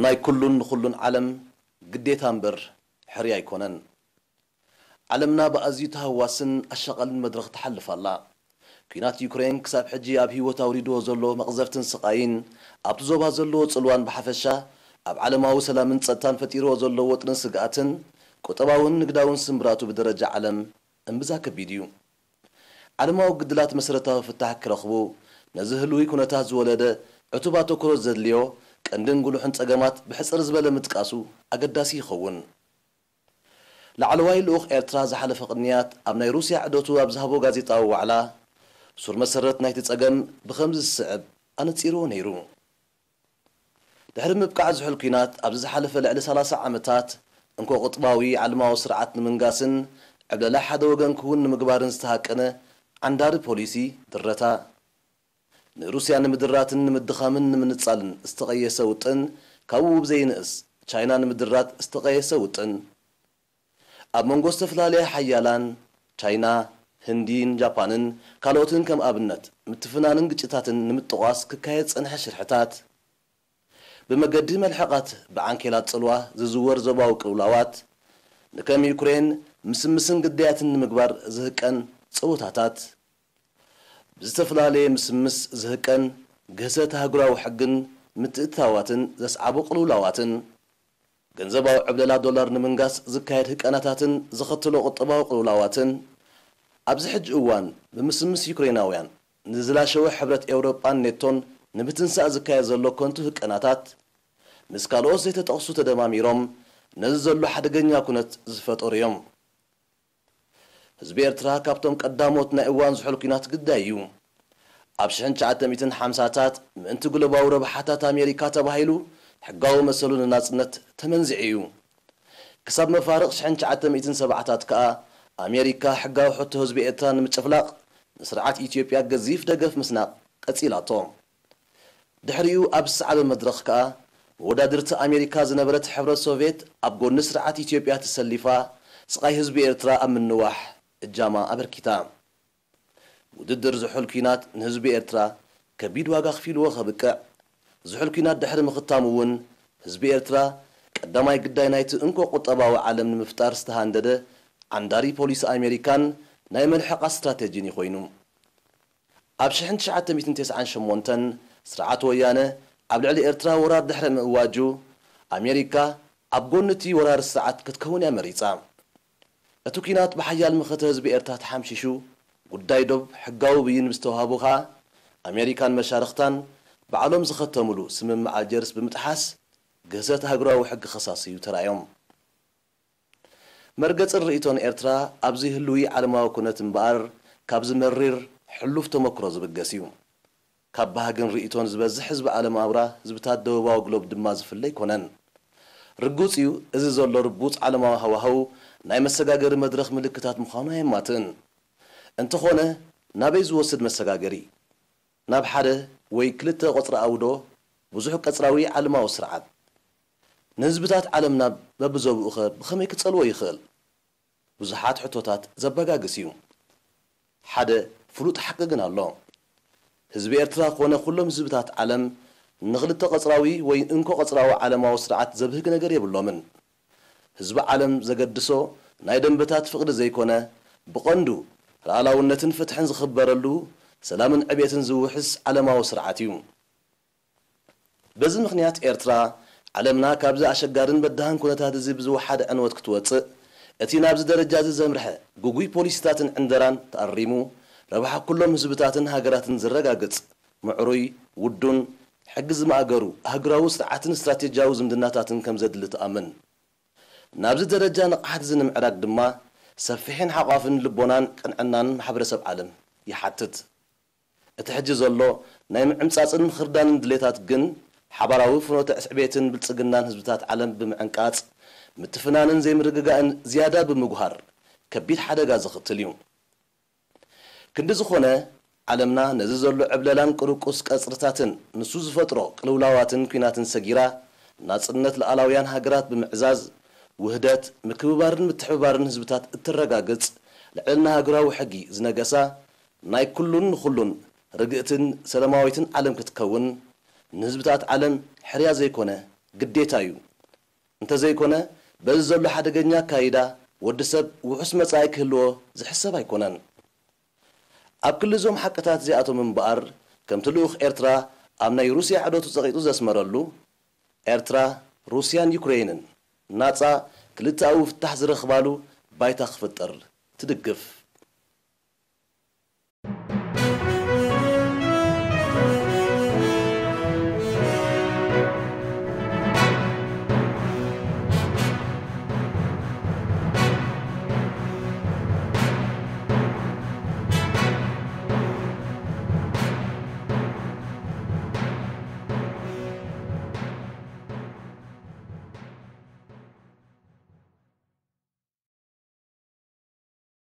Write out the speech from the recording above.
ናይ ኩሉን ንኹሉን ዓለም ግዴታ እምበር ሕርያ ኣይኮነን። ዓለምና ብኣዝዩ ተሃዋስን ኣሻቓልን መድረኽ ትሓልፍ ኣላ። ኲናት ዩክሬን ክሳብ ሕጂ ኣብ ህይወት ኣውሪድዎ ዘሎ መቕዘፍትን ስቓይን፣ ኣብቲ ዞባ ዘለዎ ጽልዋን ብሓፈሻ ኣብ ዓለማዊ ሰላምን ጸጥታን ፈጢርዎ ዘሎ ወጥርን ስግኣትን፣ ቁጠባውን ንግዳውን ስምብራቱ ብደረጃ ዓለም እምብዛ ከቢድ እዩ። ዓለማዊ ግድላት መሰረታዊ ፍታሕ ክረኽቡ፣ ነዚ ህልዊ ኩነታት ዝወለደ ዕቱብ ኣተኩሮ ዘድልዮ ቀንድን ጉሉሕን ጸገማት ብሕጽር ዝበለ ምጥቃሱ ኣገዳሲ ይኸውን። ላዕለዋይ ልኡኽ ኤርትራ ዝሓለፈ ቅንያት ኣብ ናይ ሩስያ ዕደቱ ኣብ ዝሃቦ ጋዜጣዊ ዋዕላ፣ ሱር መሰረት ናይቲ ጸገም ብኸምዚ ዝስዕብ ኣነጺርዎ ነይሩ። ድሕሪ ምብቃዕ ዝሑል ኲናት ኣብዚ ዝሓለፈ ልዕሊ ሰላሳ ዓመታት፣ እንኮ ቁጥባዊ ዓለማዊ ስርዓት ንምንጋስን ዕብለላ ሓደ ወገን ክውን ንምግባርን ዝተሃቀነ ዓንዳሪ ፖሊሲ ድረታ፣ ንሩስያ ንምድራትን ንምድኻምን ንምንጻልን ዝተቐየሰ ውጥን፣ ካብኡ ብዘይንእስ ቻይና ንምድራት ዝተቐየሰ ውጥን፣ ኣብ መንጎ ዝተፈላለያ ሓያላን፣ ቻይና፣ ህንዲን ጃፓንን ካልኦትን ከም ኣብነት፣ ምትፍናንን ግጭታትን ንምጥቋስ ክካየድ ዝጸንሐ ሽርሕታት፣ ብመገዲ መልሕቓት ብዓንኬላት ጽልዋ ዝዝወር ዞባዊ ቅልውላዋት፣ ንከም ዩክሬን ምስምስን ግዳያትን ንምግባር ዝህቀን ጸወታታት፣ ብዝተፈላለየ ምስምስ ዝህቀን ግህሰት ኣህጉራዊ ሕግን ምትእትታዋትን ዘስዓቦ ቅልውላዋትን፣ ገንዘባዊ ዕብለላ ዶላር ንምንጋስ ዝካየድ ህቀናታትን ዘኸትሎ ቁጠባዊ ቅልውላዋትን፣ ኣብዚ ሕጂ እዋን ብምስምስ ዩክሬናውያን ንዝላሸወ ሕብረት ኤውሮጳን ኔቶን ንምትንሳእ ዝካየድ ዘሎ ከንቱ ህቀናታት፣ ምስ ካልኦት ዘይተጠቕሱ ተደማሚሮም ነዚ ዘሎ ሓደገኛ ኩነት ዝፈጠሩ እዮም። ህዝቢ ኤርትራ ካብቶም ቀዳሞት ናይ እዋን ዝሑል ኲናት ግዳይ እዩ። ኣብ ሽሕን ትሽዓተ ሚእትን ሓምሳታት ምእንቲ ግሎባዊ ረብሓታት ኣሜሪካ ተባሂሉ ሕጋዊ መሰሉ ንናጽነት ተመንዚዑ እዩ። ክሳብ መፋርቕ ሽሕን ትሽዓተ ሚእትን ሰብዓታት ከኣ ኣሜሪካ ሕጋዊ ሕቶ ህዝቢ ኤርትራ ንምጭፍላቕ ንስርዓት ኢትዮጵያ ገዚፍ ደገፍ ምስናቕ ቀጺላቶ። ድሕሪኡ ኣብ ዝሰዓበ መድረኽ ከኣ መወዳድርቲ ኣሜሪካ ዝነበረት ሕብረት ሶቭየት ኣብ ጎኒ ስርዓት ኢትዮጵያ ተሰሊፋ ስቓይ ህዝቢ ኤርትራ ኣብ ምንዋሕ እጃማ ኣበርኪታ። ውድድር ዝሑል ኲናት ንህዝቢ ኤርትራ ከቢድ ዋጋ ኣኽፊልዎ ከብቅዕ፣ ዝሑል ኲናት ድሕሪ ምኽታሙ እውን ህዝቢ ኤርትራ ቀዳማይ ግዳይ ናይቲ እንኮ ቁጠባዊ ዓለም ንምፍጣር ዝተሃንደደ ዓንዳሪ ፖሊሲ ኣሜሪካን ናይ መልሕቓ ስትራተጂን እዩ ኮይኑ። ኣብ ሽሕን ትሽዓተ ሚእትን ተስዓን ሸሞንተን ስርዓት ወያነ ኣብ ልዕሊ ኤርትራ ወራር ድሕሪ ምእዋጁ፣ ኣሜሪካ ኣብ ጎኒ እቲ ወራሪ ስርዓት ክትከውን እያ መሪጻ። እቲ ኲናት ብሓያል መኸተ ህዝቢ ኤርትራ ተሓምሺሹ፣ ጉዳይ ዶብ ሕጋዊ ብይን ምስ ተዋህቦ ከኣ፣ ኣሜሪካን መሻርኽታን ባዕሎም ዝኸተምሉ ስምምዕ ኣልጀርስ ብምጥሓስ፣ ግህሰት ኣህጉራዊ ሕጊ ከሳስዩ ተራእዮም። መርገጽን ርእይቶን ኤርትራ ኣብዚ ህልዊ ዓለማዊ ኩነት እምበኣር፣ ካብዚ መሪር ሕሉፍ ተመክሮ ዝብገስ እዩ። ካብ ባህግን ርእይቶን ዝበዝሕ ህዝቢ ዓለም ኣውራ ህዝብታት ደቡባዊ ግሎብ ድማ ዝፍለ ኣይኮነን። ርጉጽ እዩ፣ እዚ ዘሎ ርቡጽ ዓለማዊ ሃዋህው ናይ መሰጋገሪ መድረኽ ምልክታት ምዃኑ ኣየማትእን። እንተኾነ፣ ናበይ ዝወስድ መሰጋገሪ? ናብ ሓደ ወይ ክልተ ቆጽራዊ ዶ ብዙሕ ቀጽራዊ ዓለማዊ ስርዓት? ንህዝብታት ዓለምና በብዞብኡኸ ብኸመይ ክጸልዎ ይኽእል? ብዙሓት ሕቶታት ዘበጋግስ እዩ። ሓደ ፍሉጥ ሓቂ ግን ኣሎ። ህዝቢ ኤርትራ ኮነ ኩሎም ህዝብታት ዓለም ንኽልተ ቀጽራዊ ወይ እንኮ ቀጽራዊ ዓለማዊ ስርዓት ዘብህግ ነገር የብሎምን። ህዝቢ ዓለም ዘገድሶ ናይ ደንበታት ፍቕሪ ዘይኮነ፣ ብቐንዱ ልኣላውነትን ፍትሕን ዝኽበረሉ፣ ሰላምን ዕቤትን ዝውሕስ ዓለማዊ ስርዓት እዩ። በዚ ምኽንያት ኤርትራ፣ ዓለምና ካብዚ ኣሸጋርን በዳህን ኩነታት እዚ ብዝወሓደ ዕንወት ክትወጽእ፣ እቲ ናብዚ ደረጃ እዚ ዘምርሐ ግጉይ ፖሊሲታትን ዕንደራን ተኣሪሙ፣ ረብሓ ኩሎም ህዝብታትን ሃገራትን ዝረጋግጽ፣ ምዕሩይ፣ ውዱን፣ ሕጊ ዝማእገሩ ኣህጉራዊ ስርዓትን ስትራቴጂያዊ ዝምድናታትን ከም ዘድሊ ትኣምን። ናብዚ ደረጃ ንቕሓት እዚ ንምዕራግ ድማ፣ ሰፊሕን ሓቋፍን ልቦናን ቅንዕናን ማሕበረሰብ ዓለም ይሓትት። እቲ ሕጂ ዘሎ ናይ ምዕምጻጽን ምኽርዳንን ድሌታት ግን፣ ሓባራዊ ፍኖተ ዕቤትን ብልጽግናን ህዝብታት ዓለም ብምዕንቃጽ፣ ምትፍናንን ዘይምርግጋእን ዝያዳ ብምጉሃር፣ ከቢድ ሓደጋ ዘኽትል እዩ። ክንዲ ዝኾነ፣ ዓለምና ነዚ ዘሎ ዕብለላን ቅርቁስ ቀጽርታትን፣ ንሱ ዝፈጥሮ ቅልውላዋትን ኲናትን ሰጊራ፣ ናጽነት ልኣላውያን ሃገራት ብምዕዛዝ፣ ውህደት፣ ምክብባርን ምትሕብባርን ህዝብታት እተረጋግጽ፣ ልዕልና ሃገራዊ ሕጊ ዝነገሳ፣ ናይ ኩሉን ንኹሉን ርግእትን ሰላማዊትን ዓለም ክትከውን፣ ንህዝብታት ዓለም ሕርያ ዘይኮነ ግዴታ እዩ። እንተዘይኮነ በዚ ዘሎ ሓደገኛ ኣካይዳ ወዲ ሰብ ውሑስ መጻኢ ክህልዎ ዝሕሰብ ኣይኮነን። ኣብ ክሊ እዞም ሓቅታት እዚኣቶም እምበኣር፣ ከምቲ ልኡኽ ኤርትራ ኣብ ናይ ሩስያ ዐዶቱ ጸቒጡ ዘስመረሉ፣ ኤርትራ፣ ሩስያን ዩክረይንን ናጻ ክልተኣዊ ፍታሕ ዝረኽባሉ ባይታ ክፍጠር ትድግፍ።